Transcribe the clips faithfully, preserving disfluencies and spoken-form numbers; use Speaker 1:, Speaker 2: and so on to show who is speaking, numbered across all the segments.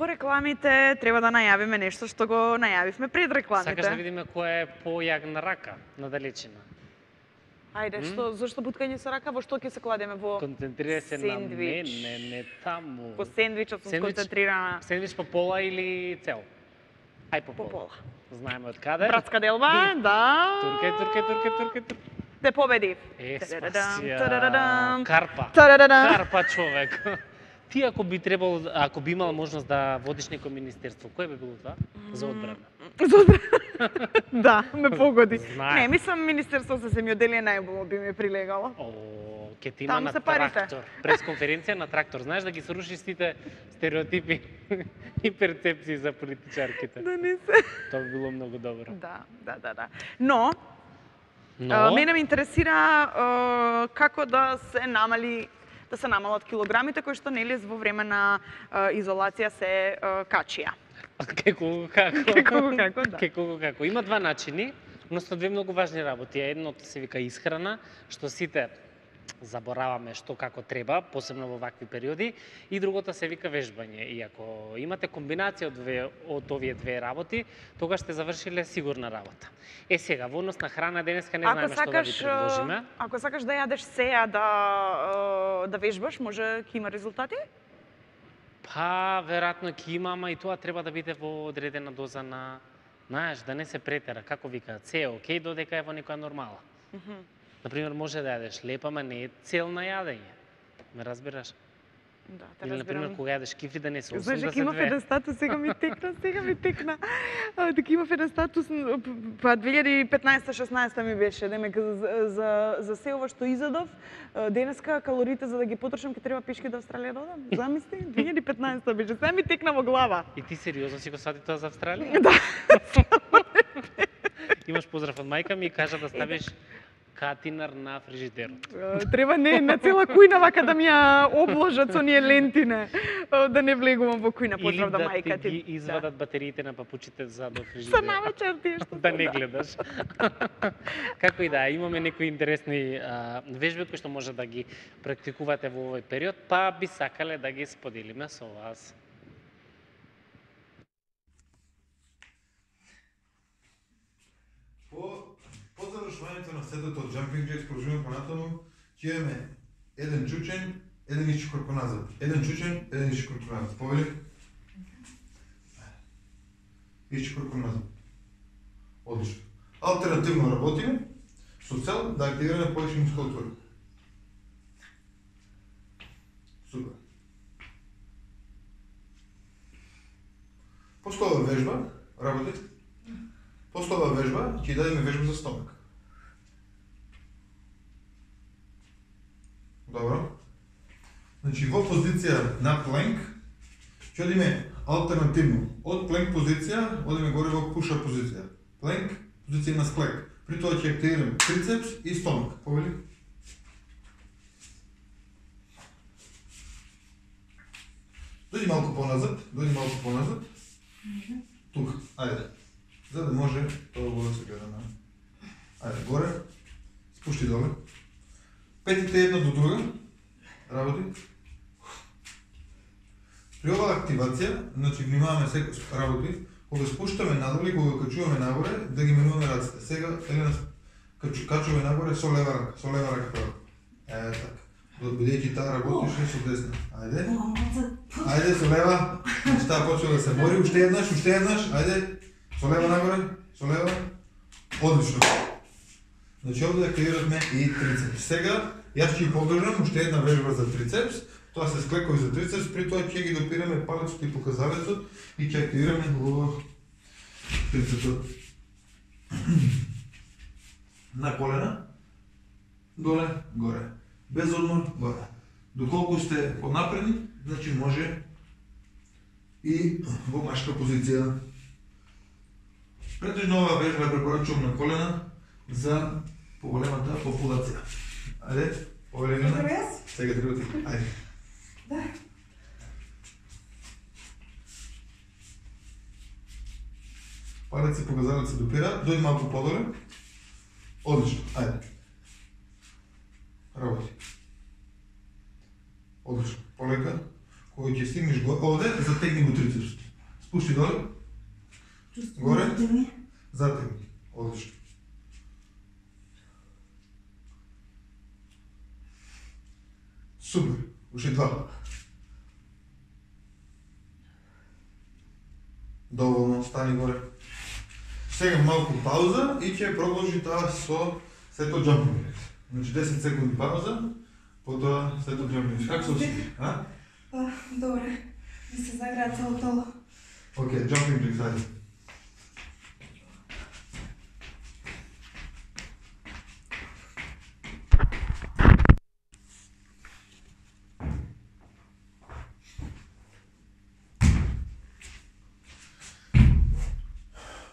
Speaker 1: по рекламите треба да најавиме нешто што го најавивме пред рекламите.
Speaker 2: Сакаш да видиме која е појагна рака на далечина?
Speaker 1: Ајде, што зошто буткање со рака, во што ќе се кладеме во
Speaker 2: Концентрира се на мене, не таму.
Speaker 1: По сендвичот сум сконцентрирана.
Speaker 2: Сендвич по пола или цел? Ај по пола.
Speaker 1: По пола.
Speaker 2: Знаеме од каде?
Speaker 1: Братска делба, да.
Speaker 2: Туркај, туркај, туркај, туркај, туркај.
Speaker 1: Те победи.
Speaker 2: Е,
Speaker 1: Тарадам,
Speaker 2: спасија.
Speaker 1: тарадам.
Speaker 2: Карпа.
Speaker 1: Тарадам.
Speaker 2: Карпа човек. Ти ако би требало, ако би имала можност да водиш некој министерство, кој би било това? За одбрана.
Speaker 1: За одбрана. Да, ме погоди.
Speaker 2: Знаем.
Speaker 1: Не, мислам Министерство за земјоделие најубаво би ми прилегало.
Speaker 2: О, ке ти има
Speaker 1: Таму
Speaker 2: на
Speaker 1: се парите.
Speaker 2: трактор. Пресконференција на трактор. Знаеш да ги срушиш сите стереотипи и перцепции за политичарките.
Speaker 1: Да не се.
Speaker 2: Тоа би било многу добро.
Speaker 1: Да, да, да, да. Но,
Speaker 2: Но,
Speaker 1: а, мене ме интересира а, како да се намали да се намалат килограмите кои што нели во време на а, изолација се а, качија.
Speaker 2: Како како?
Speaker 1: Како како, да.
Speaker 2: Како како? Има два начини, односно две многу важни работи. Едното се вика исхрана, што сите забораваме што како треба, посебно во вакви периоди, и другото се вика вежбање. И ако имате комбинација од, две, од овие две работи, тогаш сте завршиле сигурна работа. Е сега, во однос на храна денеска не знаеме што да ви предложиме.
Speaker 1: Ако сакаш да јадеш сеја да да вежбаш, може ќе има резултати?
Speaker 2: Па, веројатно ќе има, ама и тоа треба да биде во одредена доза на, знаеш, да не се претера, како викаат, се е окей додека е во некоја нормала.
Speaker 1: Mm -hmm.
Speaker 2: Например, може да јадеш лепа, ама не е цел на јадење. Ме разбираш?
Speaker 1: Да, те
Speaker 2: Или, например,
Speaker 1: разбирам.
Speaker 2: кога јадеш кифри да не се
Speaker 1: Знаеш, дека
Speaker 2: осемдесет
Speaker 1: имав еден статус, сега ми текна, сега ми текна. А, дека имав еден статус, па две илјади и петнаесета шеснаесета ми беше, демек за, за, за се ова што изедов, денеска калорите за да ги потрошам ќе треба пешки до Австралија да одам. Замисли, две илјади и петнаесета беше, сега ми текна во глава.
Speaker 2: И ти сериозно си го свати тоа за Австралија?
Speaker 1: Да.
Speaker 2: Имаш поздрав од мајка ми и кажа да ставиш катинар на фрижидерот.
Speaker 1: Треба не на цела кујна вака да ми ја обложат со ние лентине, да не влегувам во кујна, поздрав да мајка ти.
Speaker 2: Или да ти ги извадат да. Батериите на папучите за до
Speaker 1: За
Speaker 2: фрижидерот.
Speaker 1: навечер ти што
Speaker 2: Да не гледаш. Како и да, имаме некои интересни а, вежби кои што може да ги практикувате во овој период, па би сакале да ги споделиме со вас.
Speaker 3: По завршувањето на сетот од Jumping Jacks продолжуваме понатаму, ќе имаме еден чучен, еден ишчукор поназад. Еден чучен, еден ишчукор поназад. Повели? Ишчукор поназад. Одлично. Алтернативно работиме со цел да активираме повеќе мускулатура. Супер. После ова вежба, работи. После ова вежба ќе дадеме вежба за стомак. Добро. Значи во позиција на пленк ќе одиме алтернативно. Од пленк позиција одиме горе во пуша позиција. Пленк, позиција на склек. При тоа ќе активираме трицепс и стомак. Повели? Дојди малку поназад, дојди малку поназад. Тука, ајде. За да може тоа го да се гледа на... Ајде, горе. Спушти доле. Петите една до друга. Работи. При оваа активација, значи внимаваме секој работи, кога спуштаме надоле и кога качуваме нагоре, да ги менуваме раците. Сега Елена качу, качуваме нагоре со лева рака, со лева рака право. Е, така. Бидејќи таа работише со десна. Ајде. Ајде со лева. Значи таа почува да се бори, уште еднаш, уште еднаш. Ајде. Со лева нагоре, со лева. Одлично. Значи овде активиравме и трицепс. Сега јас ќе подржам уште една вежба за трицепс. Тоа се склекови за трицепс, при тоа ќе ги допираме палецот и показалецот и ќе активираме го трицепсот. На колена, доле, горе. Без одмор, горе. Доколку сте поднапредни, значи може и во машка позиција. Претежно оваа вежба ја препорачувам на колена за поголемата популација. Ајде, поголемина. Сега треба ти. Ајде. Да. Палец и показалец се допира, дојди малку подоле. Одлично, ајде. Работи. Одлично, полека, кој ќе стигнеш го овде, затегни го трицепс. Спушти доле. Горе. Затегни. Одлично. Супер. Уште два. Доволно, стани горе. Сега малку пауза и ќе продолжи таа со сето джампинг. Значи десет секунди пауза, потоа сето джампинг. Как се осеќаш, а?
Speaker 4: Па, добре. Ми се загреа цело тело.
Speaker 3: Океј, джампинг джек зајде.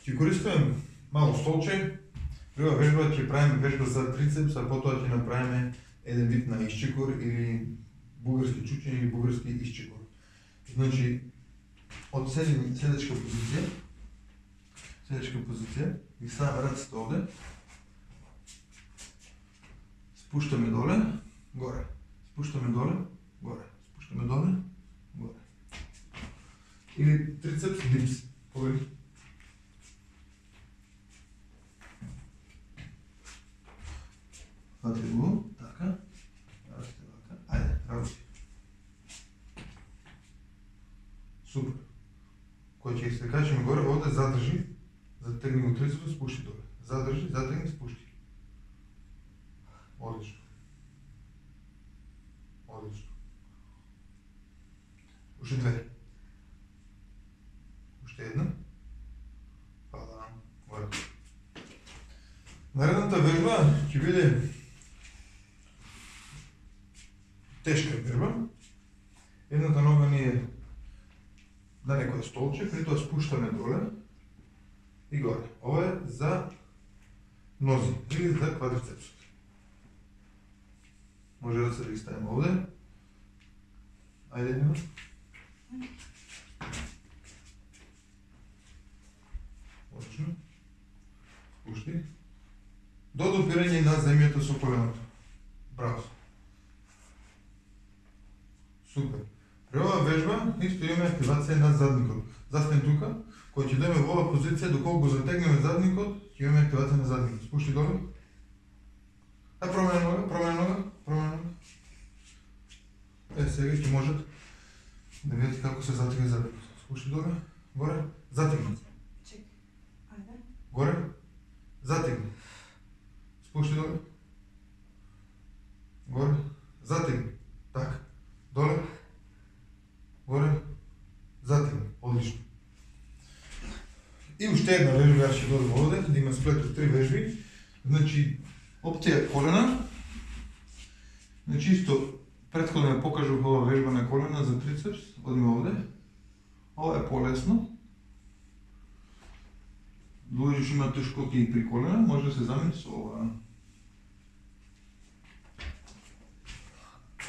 Speaker 3: Ќе користиме мало столче. Прва вежба ќе правиме вежба за трицепс, а потоа ќе направиме еден вид на исчекор или бугарски чучење или бугарски исчекор. Значи, од седечка позиција, седечка позиција, ги ставаме раците овде, спуштаме доле, горе, спуштаме доле, горе, спуштаме доле, горе. Или трицепс дипс, погреди. Фати го, така, раците вака, ајде, работи. Супер. Кој ќе се качиме горе, овде задржи, затегни го трицепс, спушти доле. Задржи, затегни, спушти. Одлично. Одлично. Уште две. Уште една. Фала. Горе. Наредната вежба ќе биде тешка вежба. Едната нога ни е на некоја столче, при тоа спуштаме доле и горе. Ова е за нози или за квадрицепсот. Може да се ги ставим овде. Ајде, Нина. Одлично. Спушти. До допирање на земјата со коленото. Браво. Супер. При оваа вежба исто имаме активација на задникот. Застани тука, кога ќе дојдеме во оваа позиција, доколку го затегнеме задникот, ќе имаме активација на задникот. Спушти доле. А промена нога, промена нога, промена нога. Е, сега ќе можат да видите како се затегне задникот. Спушти доле, горе, затегни.
Speaker 4: Чек. Ајде.
Speaker 3: Горе, затегни. Спушти доле. Горе, затегни. Така. Доле. Горе. Затегни. Одлично. И уште една вежба ја ќе додам овде, да има сплет од три вежби. Значи, опција колена. Значи, исто претходно ја покажав ова вежба на колена за трицепс. Одиме овде. Ова е полесно. Луѓе што имаат тешкоти и при колена, може да се замени со ова.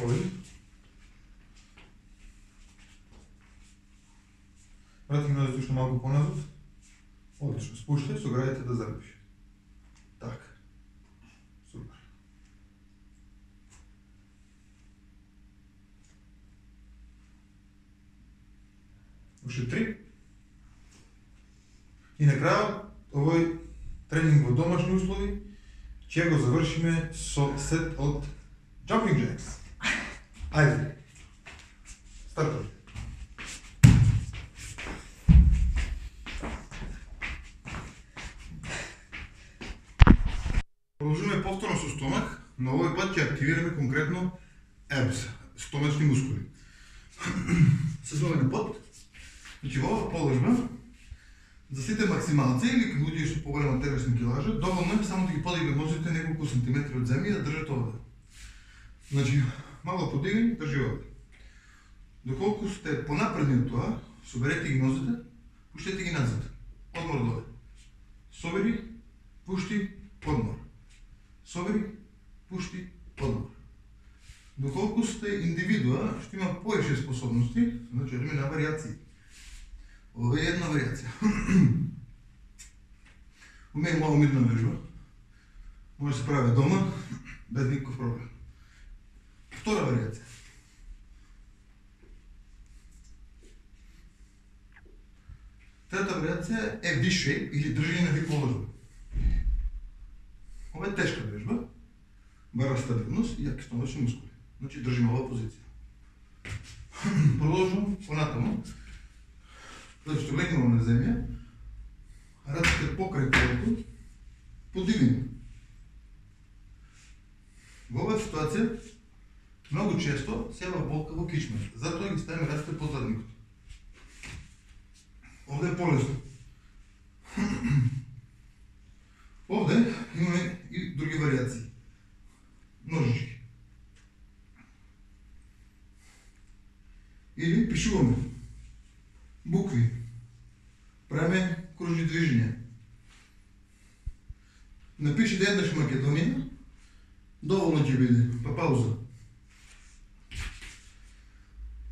Speaker 3: Овде. Вратим нозите уште малку поназад. Одлично, спуште, со градите да залепиш. Така. Супер. Уште три. И на крајот, овој тренинг во домашни услови ќе го завршиме со сет од jumping jacks. Ајде. Стартови. Продолжуваме повторно со стомак, но овој пат ќе активираме конкретно abs, стомачни мускули. Се зовеме под. Значи во оваа положба, за сите максималци или луѓе што поголема телесни килажа, доволно е само да ги подигнат нозите неколку сантиметри од земја и да држат овде. Значи, мало подигни, држи овде. Доколку сте понапредни од тоа, соберете ги нозите, пуштете ги назад. Одмор доле. Собери, пушти, одмор. Собери, пушти, одмор. Доколку сте индивидуа, што има поише способности, значи одиме на варијации. Ова е една варијација. Уме мало мирна вежба. Може да се прави дома, без никаков проблем. Втора варијација. вариација е више или држање на ви положба. Ова е тешка вежба, бара стабилност и јаки стомачни мускули. Значи држиме ова позиција. Продолжувам понатаму. Значи што легнувам на земја, раците покрај телото, подигнемо. Во оваа ситуација многу често се јава болка во кичмата, затоа ги ставиме раците под задникот. Овде е полесно. Овде имаме и други вариации. Ножички. Или пишуваме букви. Правиме кружни движења. Напишете еднаш Македонија, доволно ќе биде, па пауза.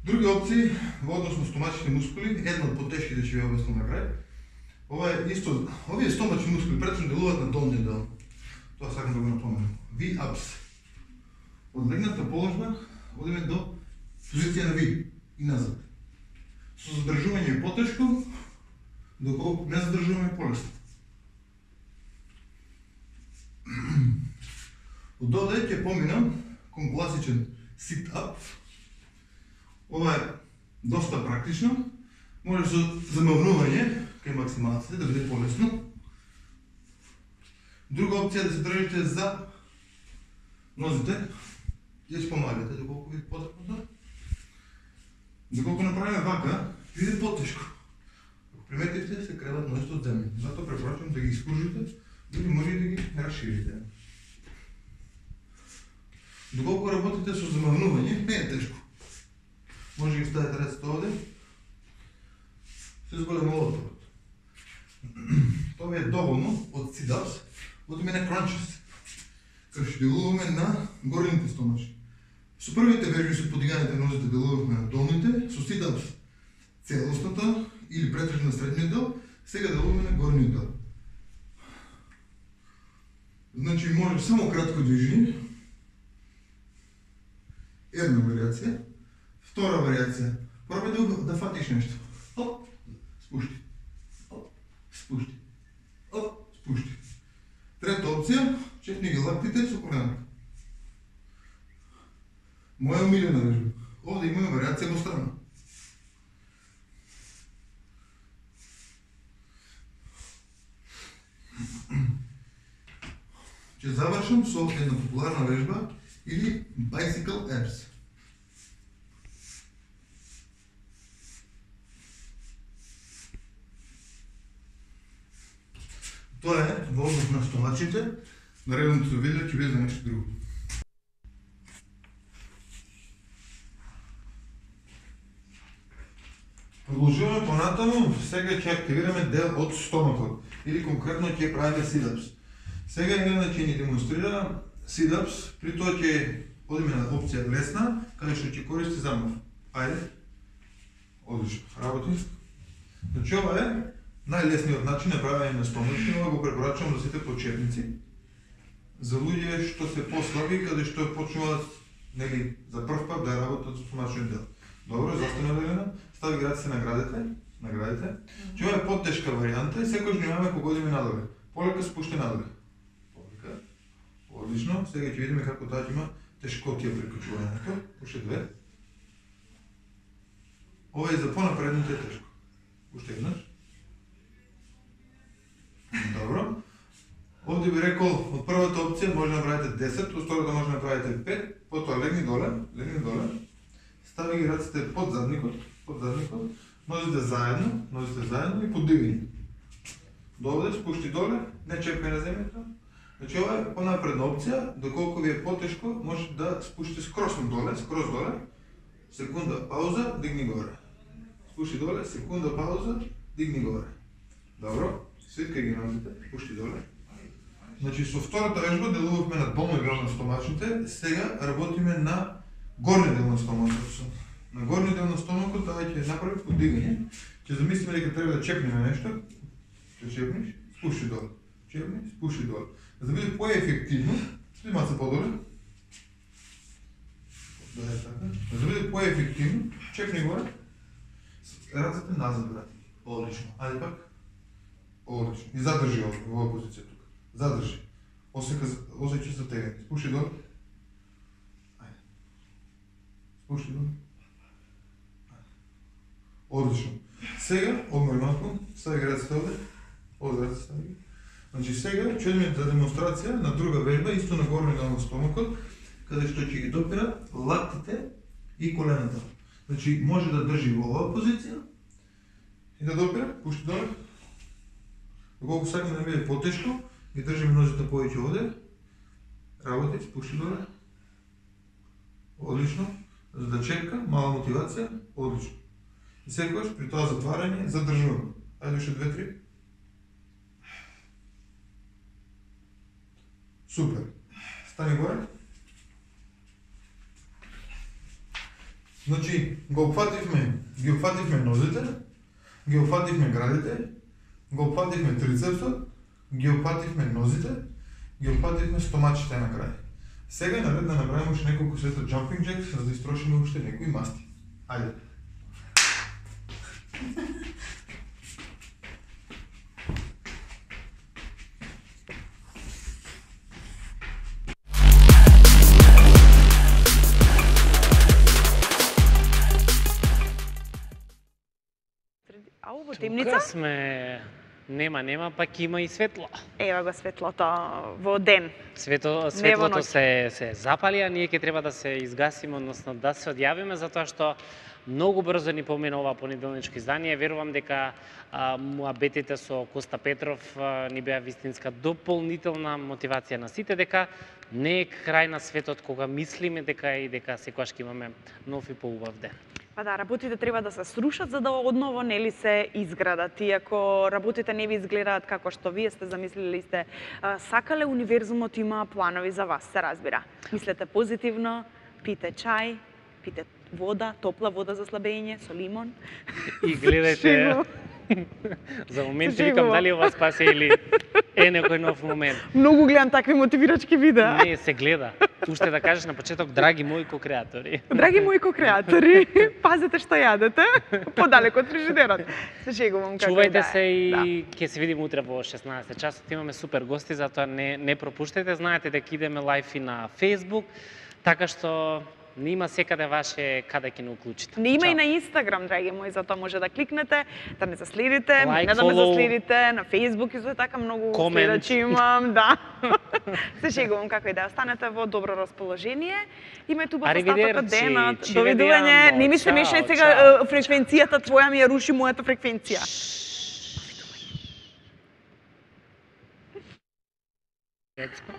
Speaker 3: Други опции во однос на стомачните мускули, една од потешките ќе ви обяснам на крај. Ова е исто, овие стомачни мускули претежно делуваат на долниот дел. Тоа сакам да го напоменам. V-ups. Од легната положба одиме до позиција на V и назад. Со задржување е потешко, доколку не задржуваме е полесно. Од овде ќе поминам кон класичен sit-up. Ова е доста практично. Може со замавнување кај максималците да биде полесно. Друга опција е да се држите за нозите и да спомагате доколку ви потребно. Доколку направиме вака, биде потешко. Ако приметивте, се креват нозите од земја. Затоа препорачувам да ги искружите, или може и да ги расширите. Доколку работите со замавнување, не е тешко. Може да ги ставите раците овде, се зголема отворот. Тоа е доволно од sit-ups, одиме на crunches, кај што делуваме на горните стомачи. Со првите вежби со подиганите нозите делуваме на долните, со sit-ups целосната или претежно на средниот дел, сега делуваме на горниот дел. Значи може само кратко движење, една вариација, втора вариација, пробај да, да фатиш нешто. Оп, спушти, оп, спушти, оп, спушти. Трета опција, чекни ги лактите со колената. Моја омилена вежба. Овде имаме вариација во страна. Ќе завршам со една популарна вежба или bicycle abs. Тоа е во однос на стомачите, наредното видео ќе биде за нешто друго. Продолжуваме понатаму, сега ќе активираме дел од стомакот, или конкретно ќе правиме sit-ups. Сега Елена ќе ни демонстрира sit-ups, при тоа ќе одиме на опција лесна, каде што ќе користи замав. Ајде. Одлично, работи. Значи ова е најлесниот начин на правење на стомачни, ова го препорачувам за сите почетници. За луѓе што се послаби, каде што почнуваат нели за прв пат да работат со стомачниот дел. Добро, застана Елена, стави ги раците на градите, на градите. Че ова е потешка варијанта и секој внимаваме кога одиме надоле. Полека спуште надоле. Полека. Одлично, сега ќе видиме како тоа ќе има тешкотија при качувањето. Уште две. Ова е за понапредните тешко. Уште еднаш. Добро. Овде би рекол, од првата опција може да направите десет, од втората може да направите пет, потоа легни доле, легни доле. Стави ги раците под задникот, под задникот, нозите заедно, нозите заедно и подигни. Довде, спушти доле, не чепкај на земјата. Значи ова е понапредна опција, доколку ви е потешко, може да спушите скросно доле, скроз доле, секунда пауза, дигни горе. Спушти доле, секунда пауза, дигни горе. Добро, свиткај ги нозите, спушти доле. Значи со втората вежба делувавме на долниот дел на стомачните, сега работиме на горниот дел на стомакот. На горниот дел на стомакот тоа ќе направи подигање. Ќе замислиме дека треба да чепнеме нешто. Ќе чепнеш, спушти доле. Чепни, спушти доле. За да биде поефективно, стои маца подоле. Да е така. За да биде поефективно, чепни горе. Рацете назад, брати. Одлично. Ајде пак. Одлично. И задржи ова, во оваа позиција тука. Задржи. Осека, осеќа се тегни. Спуши долу. Ајде. Спуши долу. Одлично. Сега, одмори малку, стави ги раците овде. Овде раците стави ги. Значи сега ќе одиме за демонстрација на друга вежба, исто на горни дел на стомакот, каде што ќе ги допира лактите и колената. Значи може да држи во оваа позиција и да допира, пушти доле. Доколку сакаме да биде потешко, ги држиме нозите повеќе овде. Работи, спушти доле. Одлично. За да чека, мала мотивација, одлично. И секогаш при тоа затварање задржуваме. Ајде уште две три. Супер. Стани горе. Значи, го опфативме, ги опфативме нозите, ги опфативме градите, го опфативме трицепсот, ги опфативме нозите, ги опфативме стомачите на крај. Сега е наред да направиме уште неколку сета jumping jacks, за да истрошиме уште некои масти. Ајде.
Speaker 1: Ау, во
Speaker 2: Тука
Speaker 1: темница?
Speaker 2: сме, нема, нема, пак има и светло.
Speaker 1: Ева го светлото во ден.
Speaker 2: Свето, светлото се, се запали, а ние ќе треба да се изгасиме, односно да се одјавиме, затоа што многу брзо ни помина ова понеделничко издание. Верувам дека а, муабетите со Коста Петров а, ни беа вистинска дополнителна мотивација на сите, дека не е крај на светот кога мислиме дека и дека секогаш ќе имаме нов и поубав ден.
Speaker 1: Па да, работите треба да се срушат за да одново нели се изградат. И ако работите не ви изгледаат како што вие сте замислили, сте а, сакале, универзумот има планови за вас, се разбира. Мислете позитивно, пите чај, пите вода, топла вода за слабење со лимон.
Speaker 2: И гледајте, за момент си викам дали ова спасе или е некој нов момент.
Speaker 1: Многу гледам такви мотивирачки видеа.
Speaker 2: Не, се гледа. Уште да кажеш на почеток, драги мои ко-креатори.
Speaker 1: Драги мои ко-креатори, пазете што јадете, подалеку од фрижидерот. Се шегувам како
Speaker 2: Чувајте
Speaker 1: да
Speaker 2: се
Speaker 1: е.
Speaker 2: и
Speaker 1: Да.
Speaker 2: ќе се видиме утре во шеснаесет часот. Имаме супер гости, затоа не не пропуштете. Знаете дека идеме лајф и на Facebook, така што не има секаде ваше каде ќе не уклучите.
Speaker 1: Не има
Speaker 2: Чао.
Speaker 1: и на Инстаграм, драги мои, затоа може да кликнете, да ме заследите,
Speaker 2: Like,
Speaker 1: не да ме
Speaker 2: follow.
Speaker 1: заследите, на Facebook исто така многу
Speaker 2: Comment.
Speaker 1: следачи имам, да. Се шегувам како и да останете во добро расположение. Имајте убав остаток од
Speaker 2: Аривидерци,
Speaker 1: денот.
Speaker 2: ci
Speaker 1: Довидување.
Speaker 2: vediamo.
Speaker 1: Не ми се
Speaker 2: Чао,
Speaker 1: мешај сега
Speaker 2: чао.
Speaker 1: е, фреквенцијата твоја ми ја руши мојата фреквенција.
Speaker 2: Детско.